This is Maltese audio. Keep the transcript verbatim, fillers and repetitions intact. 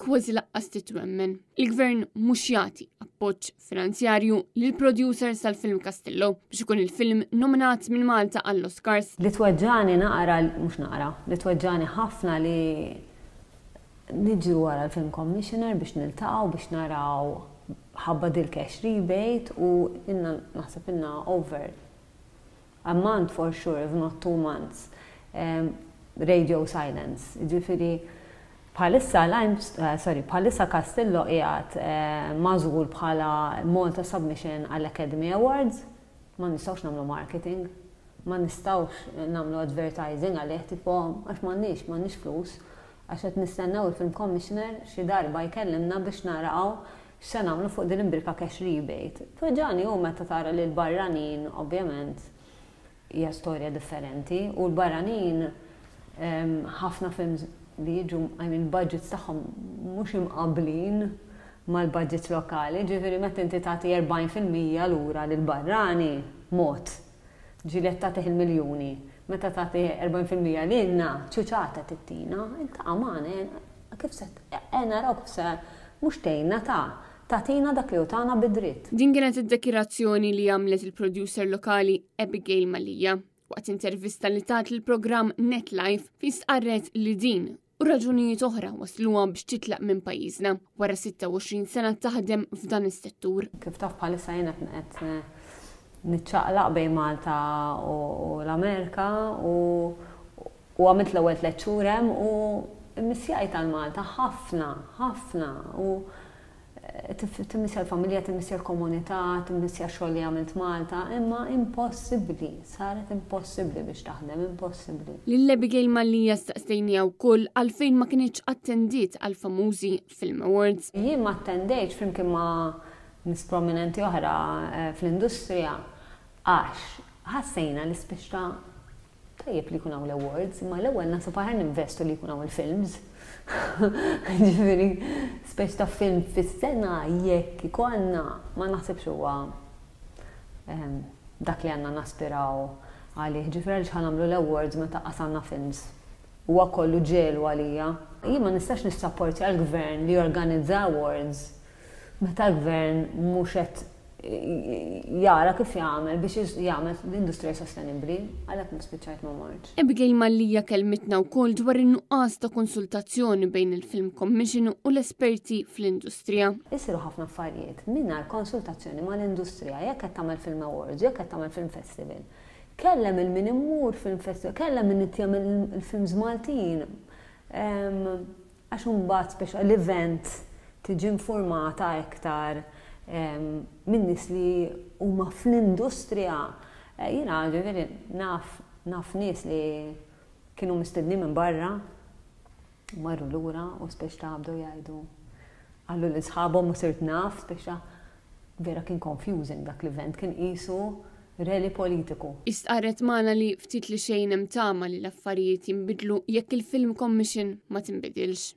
kważi lanqas titwemmen. Il-gvern mhux jagħti appoġġ finanzjarju lil producers tal-film Castillo biex ikun il-film nominat minn Malta għall-Oscars. Li tweġġagħni naqra, mhux naqra, li tweġġagħni ħafna li niġru wara l-Film Commissioner biex niltaqgħu biex naraw ħabba dil-cash rebate u inna naħseb inna over a month for sure, if not two months, um, radio silence. Ġifieri, bħalissa, uh, sorry, bħalissa Castillo qiegħed uh, magħżul bħala Malta Submission għall-Academy Awards, ma nistgħux nagħmlu marketing, ma nistgħux nagħmlu advertising għalih, tipo, għax m'għandniex, m'għandniex flus, għax qed nistennew il-Film Commissioner xi darba jkellimna biex naraw x'se nagħmlu fuq din imbrika cash rebate. Tweġġagħni u meta tara li l-barranin, ovvjament, hija storja differenti u l-barranin ħafna films li jiġu, I mean, budgets tagħhom mhux imqablin mal-budgets lokali, ġifieri meta inti tagħti erbgħin fil-mija lura lil barrani mod. Ġieli qed tagħtih il-miljuni. Meta tagħti erbgħin fil-mija lilna, ċuċata tittina, iltaqa' magħna, kif se naraw kif se mhux tgħinna ta' tagħtina dak li tagħna bid-dritt. Din kienet id-dekirazzjoni li għamlet il-producer lokali Abigail Mallia waqt intervista li tat il-programm Net Life fi stqarret li din u raġunijiet oħra wasluha biex titlaq minn pajjiżna wara sitta u għoxrin sena taħdem f'dan is-settur. Kif taf, bħalissa jiena qed niċċaqlaq bejn Malta u l-Amerika u u għamilt l-ewwel tliet xhur hemm u mmissjajt għal Malta ħafna, ħafna u timmissja l-familja, timmissja l-komunità, timmissja xogħol li għamilt Malta, imma impossibbli, saret impossibbli biex taħdem, impossibbli. Lil Abigail Mallia staqsejniha wkoll għalfejn ma kinitx attendiet għal famużi Film Awards. Jien ma attendejtx flimkien ma' nies prominenti oħra eh, fl-industrija għax ħassejna li spiċċa tajjeb li jkun hawn l-awards, imma l-ewwel naħseb aħjar ninvestu li jkun hawn il-films. Ġifieri, speċ ta' film fis-sena jekk ikollna ma naħsibx huwa ehm, dak li għandna naspiraw għalih. Ġifieri għaliex ħa nagħmlu l-awards meta qasanna films? Huwa kollu ġelu għalija. Jien ma nistax nissapporti għal-gvern li jorganizza awards meta l-gvern mhux qed jara kif jagħmel biex jagħmel l-industrija sostenibbli, għalhekk ma spiċċajt ma mortx. Abigail Mallia kelmitna wkoll dwar in-nuqqas ta' konsultazzjoni bejn il-Film Commission u l-esperti fl-industrija. Isiru ħafna affarijiet mingħajr konsultazzjoni mal-industrija. Jekk qed tagħmel Film Awards, jekk qed tagħmel Film Festival. Kellem lil min imur Film Festival, kellem min jagħmel il-films Maltin. Għax imbagħad speċa l-event tiġi informata iktar minn nies li huma fl-industrija. Eh, jiena ġifieri naf naf nies li kienu mistedni minn barra, marru lura u speċ ta' bdew jgħidu għallu li sħabhom u sirt naf speċa vera kien confusing dak l-event, kien qisu rally politiku. Istqarret magħna li ftit li xejn hemm tama li l-affarijiet jinbidlu jekk il-Film Commission ma tinbidilx.